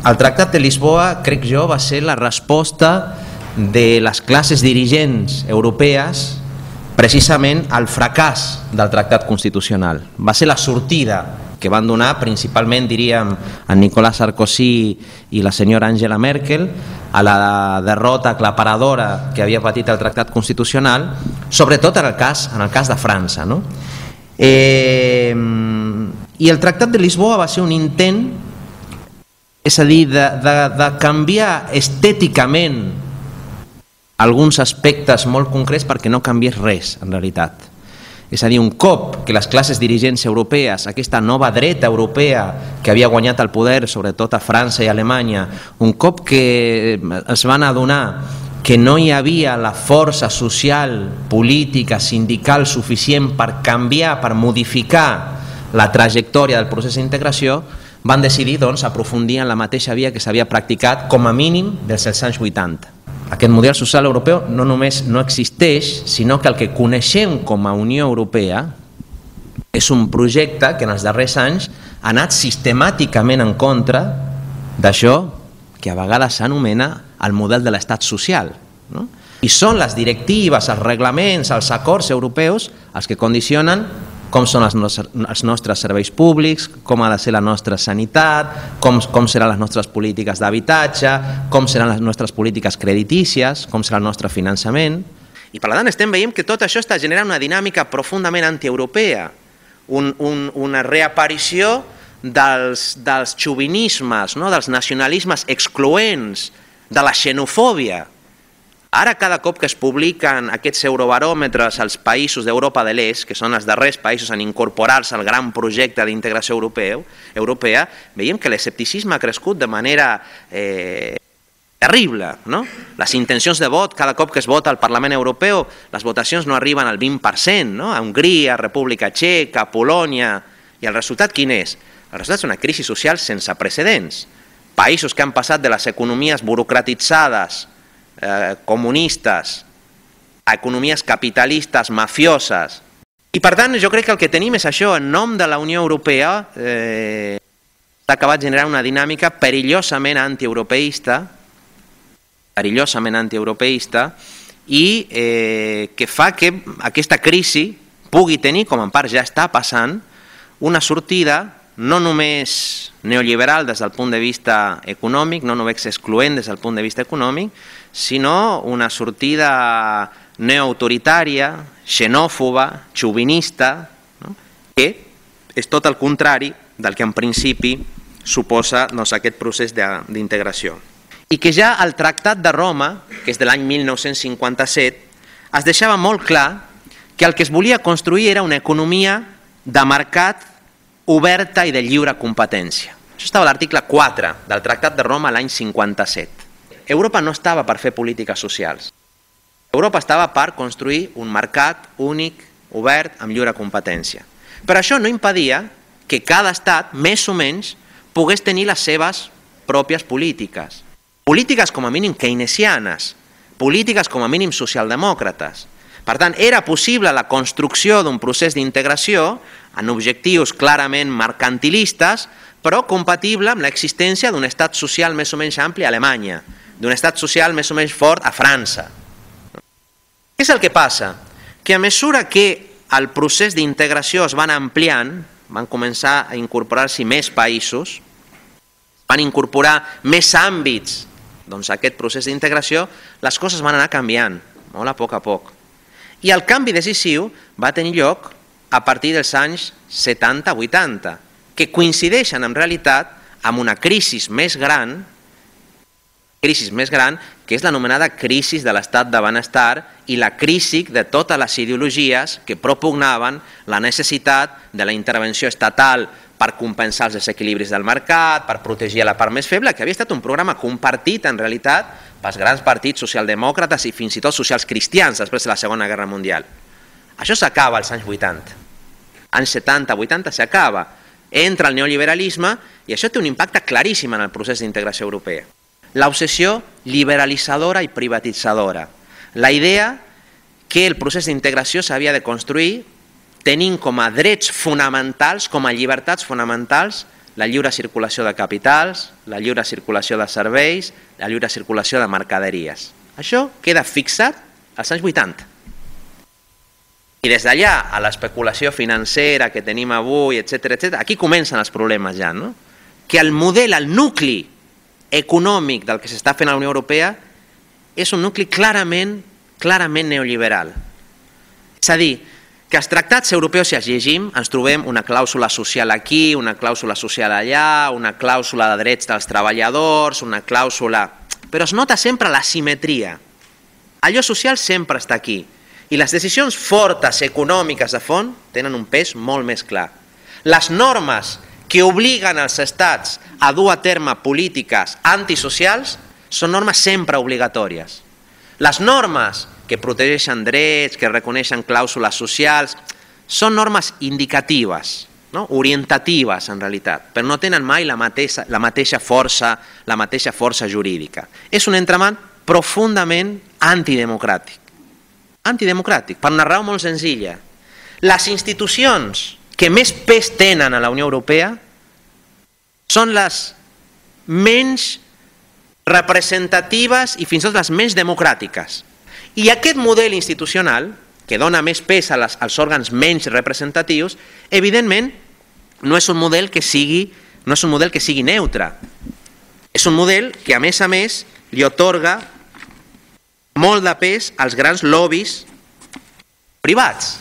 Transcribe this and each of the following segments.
El Tractat de Lisboa, crec jo, va ser la resposta de les classes dirigents europees precisament al fracàs del Tractat Constitucional. Va ser la sortida que van donar principalment, diríem, en Nicolas Sarkozy i la senyora Angela Merkel a la derrota aclaparadora que havia patit el Tractat Constitucional, sobretot en el cas de França, no? I el Tractat de Lisboa va ser un intent, és a dir, de canviar estèticament alguns aspectes molt concrets perquè no canviés res, en realitat. És a dir, un cop que les classes dirigents europees, aquesta nova dreta europea que havia guanyat el poder, sobretot a França i a Alemanya, un cop que es van adonar que no hi havia la força social, política, sindical suficient per canviar, per modificar la trajectòria del procés d'integració, van decidir aprofundir en la mateixa via que s'havia practicat com a mínim des dels anys 80. Aquest model social europeu no només no existeix, sinó que el que coneixem com a Unió Europea és un projecte que en els darrers anys ha anat sistemàticament en contra d'això que a vegades s'anomena el model de l'estat social. I són les directives, els reglaments, els acords europeus els que condicionen com són els nostres serveis públics, com ha de ser la nostra sanitat, com seran les nostres polítiques d'habitatge, com seran les nostres polítiques creditícies, com serà el nostre finançament. I per tant estem veient que tot això està generant una dinàmica profundament antieuropea, una reaparició dels xovinismes, dels nacionalismes excloents, de la xenofòbia. Ara, cada cop que es publiquen aquests eurobaròmetres als països d'Europa de l'Est, que són els darrers països en incorporar-se al gran projecte d'integració europea, veiem que l'escepticisme ha crescut de manera terrible. Les intencions de vot, cada cop que es vota al Parlament Europeu, les votacions no arriben al 20%, a Hongria, República Txeca, Polònia, i el resultat quin és? El resultat és una crisi social sense precedents. Països que han passat de les economies burocratitzades, comunistes, a economies capitalistes, mafioses. I per tant jo crec que el que tenim és això, en nom de la Unió Europea s'ha acabat generant una dinàmica perillosament antieuropeista i que fa que aquesta crisi pugui tenir, com en part ja està passant, una sortida no només neoliberal des del punt de vista econòmic, no només excloent des del punt de vista econòmic, sinó una sortida neoautoritària, xenòfoba, xovinista, que és tot el contrari del que en principi suposa aquest procés d'integració. I que ja al Tractat de Roma, que és de l'any 1957, es deixava molt clar que el que es volia construir era una economia de mercat oberta i de lliure competència. Això estava a l'article 4 del Tractat de Roma l'any 57. Europa no estava per fer polítiques socials. Europa estava per construir un mercat únic, obert, amb lliure competència. Però això no impedia que cada estat, més o menys, pogués tenir les seves pròpies polítiques. Polítiques com a mínim keynesianes, polítiques com a mínim socialdemòcrates. Per tant, era possible la construcció d'un procés d'integració en objectius clarament mercantilistes, però compatible amb l'existència d'un estat social més o menys ampli a Alemanya, d'un estat social més o menys fort a França. Què és el que passa? Que a mesura que el procés d'integració es van ampliant, van començar a incorporar-s'hi més països, van incorporar més àmbits a aquest procés d'integració, les coses van anar canviant, molt a poc. I el canvi decisiu va tenir lloc a partir dels anys 70-80, que coincideixen en realitat amb una crisi més gran, que és l'anomenada crisi de l'estat de benestar i la crisi de totes les ideologies que propugnaven la necessitat de la intervenció estatal per compensar els desequilibris del mercat, per protegir la part més feble, que havia estat un programa compartit en realitat pels grans partits socialdemòcrates i fins i tot socials cristians després de la Segona Guerra Mundial. Això s'acaba als anys 80. Anys 70-80 s'acaba. Entra el neoliberalisme i això té un impacte claríssim en el procés d'integració europea. L'obsessió liberalitzadora i privatitzadora. La idea que el procés d'integració s'havia de construir tenint com a drets fonamentals, com a llibertats fonamentals, la lliure circulació de capitals, la lliure circulació de serveis, la lliure circulació de mercaderies. Això queda fixat als anys 80. I des d'allà a l'especulació financera que tenim avui, etc., aquí comencen els problemes ja, no? Que el model, el nucli econòmic del que s'està fent a la Unió Europea és un nucli clarament neoliberal. És a dir, que els tractats europeus, si els llegim, ens trobem una clàusula social aquí, una clàusula social allà, una clàusula de drets dels treballadors, una clàusula... Però es nota sempre la simetria. Allò social sempre està aquí. I les decisions fortes econòmiques de fons tenen un pes molt més clar. Les normes que obliguen els estats a dur a terme polítiques antisocials són normes sempre obligatòries. Les normes que protegeixen drets, que reconeixen clàusules socials, són normes indicatives, no? Orientatives en realitat, però no tenen mai la mateixa força jurídica. És un entramat profundament antidemocràtic. Antidemocràtic, per una raó molt senzilla. Les institucions que més pes tenen a la Unió Europea són les menys representatives i fins i tot les menys democràtiques. I aquest model institucional, que dona més pes als òrgans menys representatius, evidentment no és un model que sigui neutre. És un model que, a més, li atorga molt de pes als grans lobbies privats.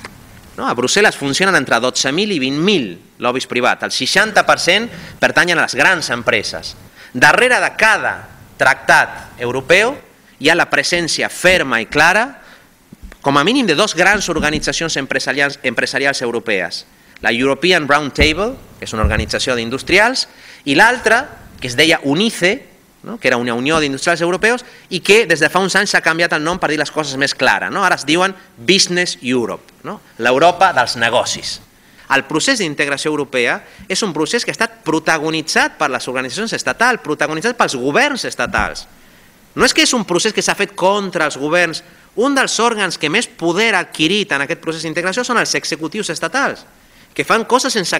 A Brussel·les funcionen entre 12.000 i 20.000 lobbies privats. El 60% pertanyen a les grans empreses. Darrere de cada tractat europeu hi ha la presència ferma i clara, com a mínim, de dues grans organitzacions empresarials europees. La European Round Table, que és una organització d'industrials, i l'altra, que es deia UNICE, que era una unió d'industrials europeus, i que des de fa uns anys s'ha canviat el nom per dir les coses més clares. Ara es diuen Business Europe, l'Europa dels negocis. El procés d'integració europea és un procés que ha estat protagonitzat per les organitzacions estatals, protagonitzat pels governs estatals. No és que és un procés que s'ha fet contra els governs. Un dels òrgans que més poder ha adquirit en aquest procés d'integració són els executius estatals, que fan coses sense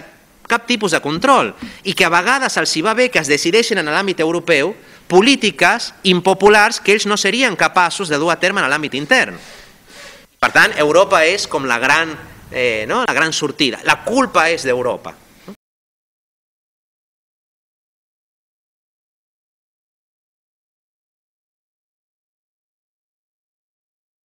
cap tipus de control i que a vegades els hi va bé que es decideixin en l'àmbit europeu polítiques impopulars que ells no serien capaços de dur a terme en l'àmbit intern. Per tant, Europa és com la gran sortida. La culpa és d'Europa.